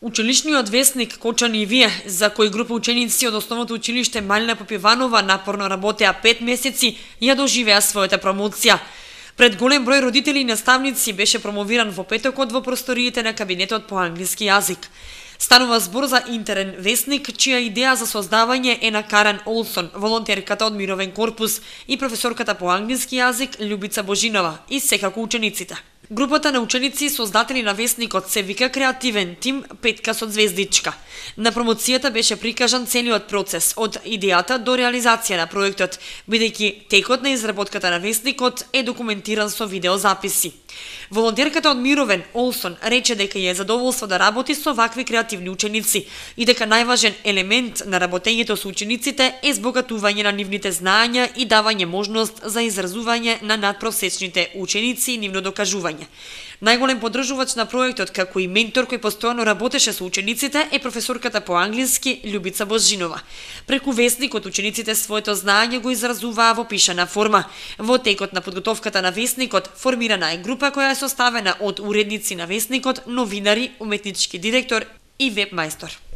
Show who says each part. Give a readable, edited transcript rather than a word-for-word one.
Speaker 1: Училишниот весник Кочани и вие, за кој група ученици од основното училиште Малина Попиванова напорно работеа 5 месеци, ја доживеа својата промоција. Пред голем број родители и наставници беше промовиран во петокот во просториите на кабинетот по англиски јазик. Станува збор за интерен весник, чија идеја за создавање е на Карен Олсон, волонтерката од Мировен корпус и професорката по англиски јазик Љубица Божинова и секако учениците. Групата на ученици создатели на весникот се вика креативен тим Петка со звездичка. На промоцијата беше прикажан целиот процес од идејата до реализација на проектот, бидејќи текот на изработката на весникот е документиран со видеозаписи. Волонтерката од Мировен, Олсон, рече дека е задоволство да работи со вакви креативни ученици и дека најважен елемент на работењето со учениците е збогатување на нивните знаења и давање можност за изразување на надпросечните ученици и нивно докажување. Најголем поддржувач на проектот, како и ментор кој постојано работеше со учениците, е професорката по англиски Љубица Божинова. Преку весникот учениците своето знаење го изразуваа во пишана форма. Во текот на подготовката на весникот формирана е група која е составена од уредници на весникот, новинари, уметнички директор и веб мајстор.